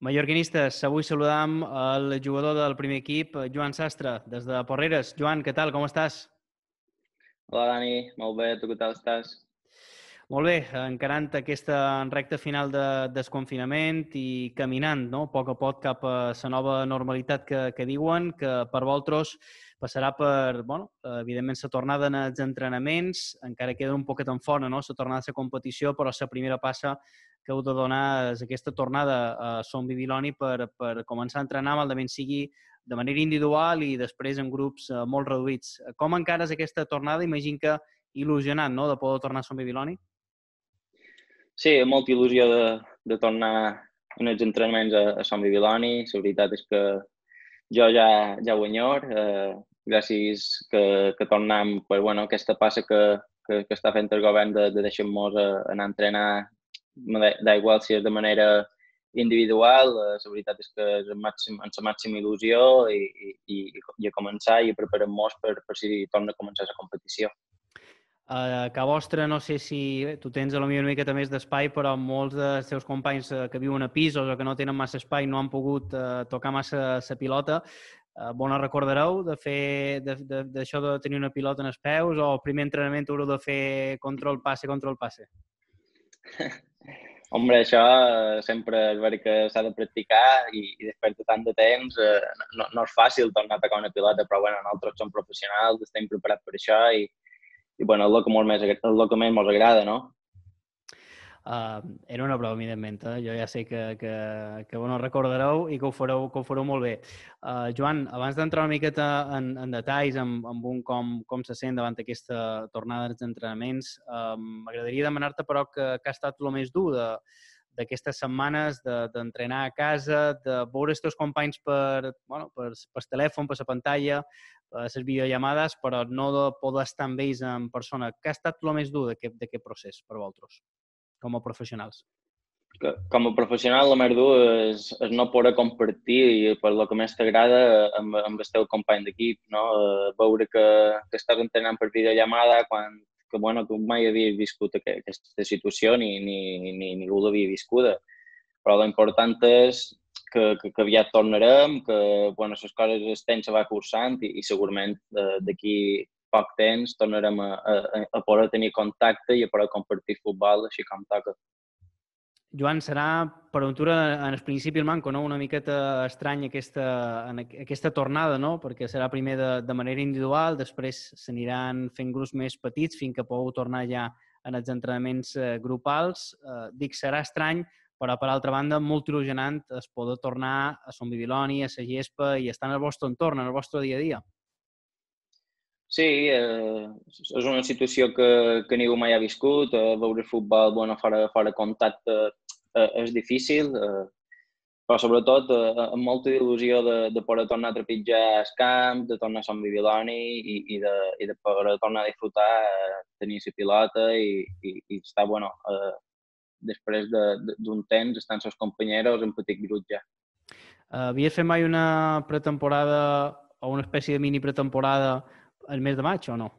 Mallorquinistes, avui saludam el jugador del primer equip, Joan Sastre, des de Porreres. Joan, què tal, com estàs? Hola Dani, molt bé, tu què tal estàs? Molt bé, encarant aquesta recta final de desconfinament i caminant, no?, a poc cap a la nova normalitat que diuen, que per vosaltres passarà per, evidentment, la tornada en els entrenaments, encara queda un poquet en fora, no?, la tornada a la competició, però la primera passa que heu de donar és aquesta tornada a Son Bibiloni per començar a entrenar, malament sigui de manera individual i després en grups molt reduïts. Com encares aquesta tornada? Imagino que il·lusionat, no?, de poder tornar a Son Bibiloni. Sí, amb molta il·lusió de tornar en els entrenaments a Sant Bibiloni. La veritat és que jo ja ho enyor. Gràcies que tornem per aquesta passa que està fent el govern de deixar-nos anar a entrenar, da igual si és de manera individual. La veritat és que és amb la màxima il·lusió i a començar i a preparar-nos per si torna a començar la competició. A casa vostra, no sé si tu tens potser una miqueta més d'espai, però molts dels teus companys que viuen a pisos o que no tenen massa espai no han pogut tocar massa la pilota. Bon recordareu de fer d'això de tenir una pilota en els peus, o el primer entrenament haureu de fer control-passe? Hombre, això sempre és veritat que s'ha de practicar i després de tant de temps no és fàcil tornar a tocar una pilota, però nosaltres som professionals, estem preparats per això i és el que més ens agrada, no? Era una broma, evidentment. Jo ja sé que ho no recordareu i que ho fareu molt bé. Joan, abans d'entrar una miqueta en detalls amb un com se sent davant aquesta tornada dels entrenaments, m'agradaria demanar-te, però, que ha estat el més dur d'aquestes setmanes d'entrenar a casa, de veure els teus companys per telèfon, per la pantalla, per les videollamades, però no de poder estar amb ells en persona. Què ha estat el més dur d'aquest procés per vosaltres, com a professionals? Com a professional, el més dur és no poder compartir per el que més t'agrada amb el teu company d'equip, no? Veure que estàs entrenant per videollamada quan tu mai havies viscut aquesta situació ni ningú l'havia viscuda. Però l'important és que aviat tornarem, que les coses el temps se va cursant i segurament d'aquí poc temps tornarem a poder tenir contacte i a poder compartir futbol així com toca. Joan, serà per aventura en el principi el manco, no? Una miqueta estrany aquesta tornada, no? Perquè serà primer de manera individual, després s'aniran fent grups més petits fins que pugueu tornar ja en els entrenaments grupals. Dic, serà estrany, però per altra banda molt il·lusionant es poder tornar a Son Bibiloni, a la gespa i estar en el vostre entorn, en el vostre dia a dia. Sí, és una situació que ningú mai ha viscut. Veure futbol fora de contacte és difícil, però sobretot amb molta il·lusió de poder tornar a trepitjar el camp, de tornar a Sant Bibiloni i de poder tornar a disfrutar, tenir la pilota i estar, després d'un temps, estar amb els companys en petit grup ja. Havies fet mai una pretemporada o una espècie de mini pretemporada el mes de maig o no?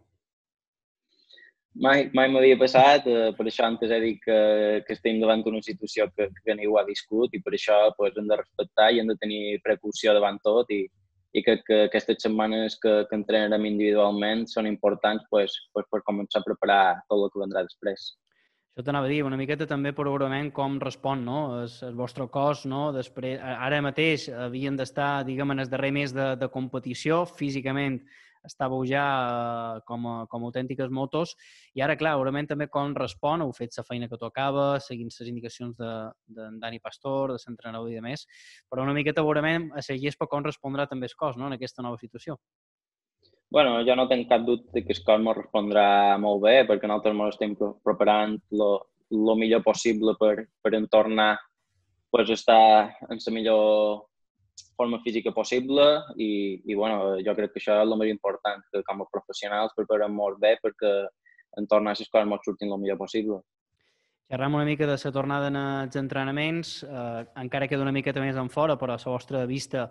Mai m'havia passat, per això antes he dit que estem davant d'una situació que ningú ha viscut i per això hem de respectar i hem de tenir precaució davant tot i crec que aquestes setmanes que entrenarem individualment són importants per començar a preparar tot el que vendrà després. Això t'anava a dir, una miqueta també probablement com respon, no?, el vostre cos, no? Després, ara mateix havien d'estar, diguem, en el darrer mes de competició, físicament estàveu ja com autèntiques motos, i ara, clar, segurament també com respon, heu fet la feina que tocava, seguint les indicacions d'en Dani Pastor, de l'entrenador i de més, però una miqueta segurament a la gespa com respondrà també el cos, no?, en aquesta nova situació. Jo no tinc cap dubte que el cos m'ho respondrà molt bé, perquè nosaltres ens estem preparant el millor possible per tornar a estar en la millor forma física possible i jo crec que això és el més important, que com a professionals preparem molt bé perquè en tornar a les coses ens surtin el millor possible. Xerram una mica de la tornada en els entrenaments, encara queda una miqueta més en fora, però a la vostra vista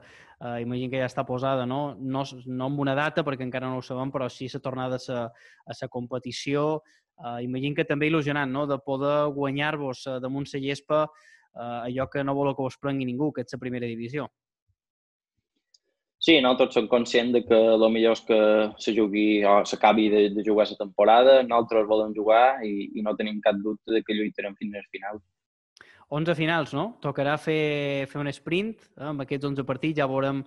imagino que ja està posada, no amb una data, perquè encara no ho sabem, però sí la tornada a la competició. Imagino que també il·lusionant, no?, de poder guanyar-vos damunt la gespa allò que no voleu que us prengui ningú, que és la primera divisió. Sí, nosaltres som conscients de que el millor és que se jugui o s'acabi de jugar la temporada. Nosaltres volem jugar i no tenim cap dubte de que lluitarem fins al final. 11 finals, no? Tocarà fer un sprint amb aquests 11 partits, ja veurem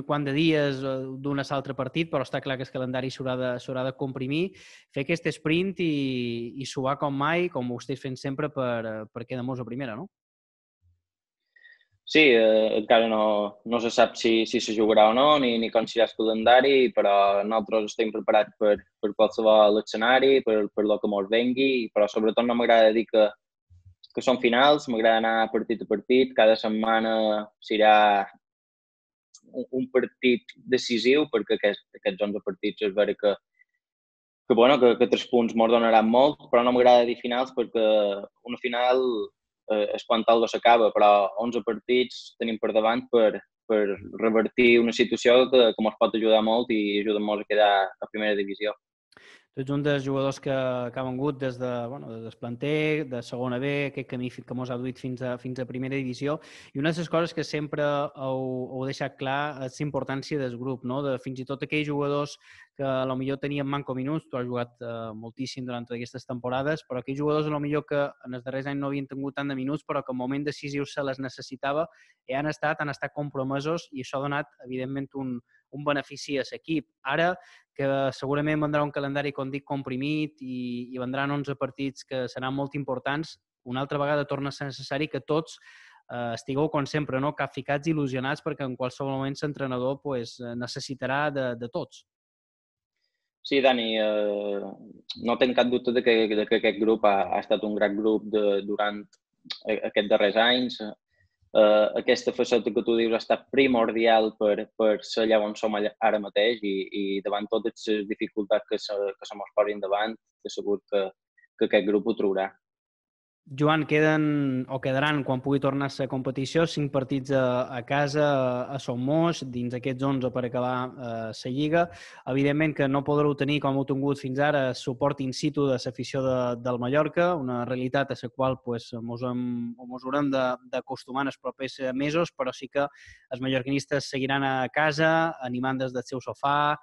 quant de dies d'un a l'altre partit, però està clar que el calendari s'haurà de comprimir, fer aquest sprint i suar com mai, com ho esteu fent sempre per quedar-nos a primera, no? Sí, encara no se sap si se jugarà o no, ni com serà el calendari, però nosaltres estem preparats per qualsevol escenari, per el que ens vengui, però sobretot no m'agrada dir que són finals, m'agrada anar partit a partit, cada setmana serà un partit decisiu, perquè aquests 11 partits és vera que 3 punts ens donaran molt, però no m'agrada dir finals perquè una final és quan algo s'acaba, però 11 partits tenim per davant per revertir una situació que ens pot ajudar molt i ajudar-nos a quedar a primera divisió. Tu ets un dels jugadors que ha vengut des del planter, de segona B, aquest camí que mos ha duit fins a primera divisió, i una de les coses que sempre heu deixat clar és la importància del grup, no? De fins i tot aquells jugadors que potser tenien manco minuts, tu has jugat moltíssim durant aquestes temporades, però aquells jugadors potser que en els darrers anys no havien tingut tant de minuts, però que en moment decisiu se les necessitava, i han estat compromesos, i això ha donat, evidentment, un benefici a l'equip. Ara, que segurament vendrà un calendari, com dic, comprimit i vendran 11 partits que seran molt importants, una altra vegada torna a ser necessari que tots estigueu, com sempre, no? Capficats i il·lusionats, perquè en qualsevol moment l'entrenador necessitarà de tots. Sí, Dani, no tinc cap dubte de que aquest grup ha estat un gran grup durant aquests darrers anys. Aquesta faceta que tu dius ha estat primordial per ser allà on som ara mateix i davant totes les dificultats que se mos posin davant, segur que aquest grup ho trobarà. Joan, quedaran, quan pugui tornar a la competició, 5 partits a casa, a Son Moix, dins aquests 11 per acabar la Lliga. Evidentment que no podreu tenir, com heu tingut fins ara, suport in situ de l'afició del Mallorca, una realitat a la qual ens haurem d'acostumar en els propers mesos, però sí que els mallorquinistes seguiran a casa, animant des del seu sofà,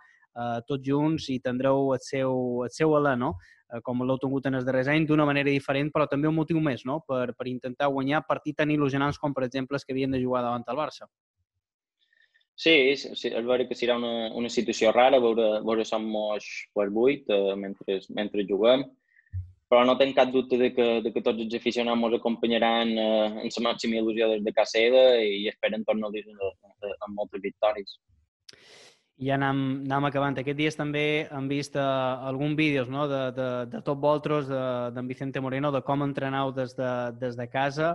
tots junts, i tindreu el seu alè, no? Com l'heu tingut en els darrers anys, d'una manera diferent, però també un motiu més, no? Per intentar guanyar partits tan il·lusionants com, per exemple, els que havien de jugar davant el Barça. Sí, és vera que serà una situació rara veure Som Moix per 8 mentre juguem, però no tinc cap dubte de que tots els aficionats ens acompanyaran en la màxima il·lusió des de casa seva i esperen tornar-los amb moltes victòries. I ja anem acabant. Aquests dies també hem vist alguns vídeos, no? de Top Voltros, d'en Vicente Moreno, de com entrenau des de casa.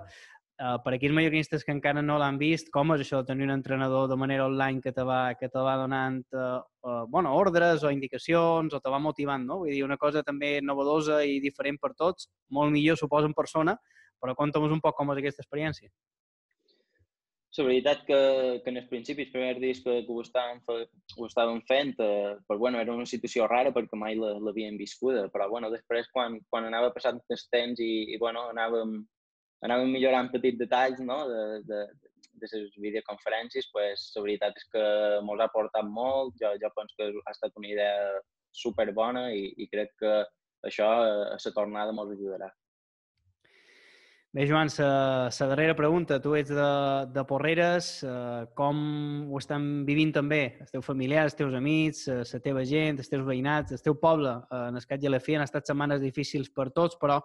Per aquells mallorquinistes que encara no l'han vist, com és això de tenir un entrenador de manera online que te va donant ordres o indicacions o te va motivant, no? Vull dir, una cosa també novedosa i diferent per tots, molt millor, suposo, en persona, però conta'm un poc com és aquesta experiència. La veritat que en els principis, els primers dies que ho estàvem fent, era una situació rara perquè mai l'havíem viscuda, però després quan anava passant el temps i anàvem millorant petits detalls, no? de les videoconferències, la veritat és que ens ha portat molt. Jo penso que ha estat una idea superbona i crec que això a la tornada ens ajudarà. Bé, Joan, la darrera pregunta. Tu ets de Porreres. Com ho estan vivint també els teus familiars, els teus amics, la teva gent, els teus veïnats, el teu poble? En el cas i a la fi han estat setmanes difícils per tots, però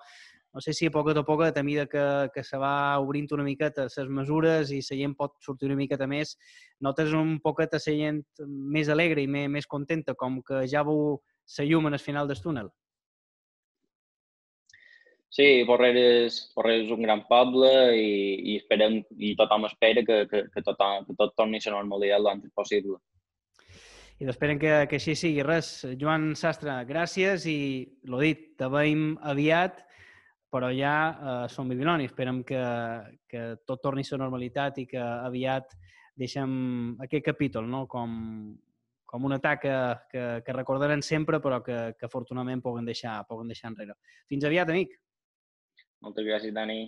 no sé si a poc a poc, a mesura que se va obrint una miqueta les mesures i la gent pot sortir una miqueta més, notes un poquet la gent més alegre i més contenta, com que ja veu la llum en el final del túnel? Sí, Porreres és un gran poble i esperem, i tothom espera que tot torni a la normalitat l'antes possible. I esperen que així sigui. Res, Joan Sastre, gràcies i, l'ho dit, te veiem aviat, però ja som Bibiloni. Esperem que tot torni a la normalitat i que aviat deixem aquest capítol, no? com un atac que recordaran sempre, però que afortunadament poden deixar enrere. Fins aviat, amic! Moltes gràcies, Dani.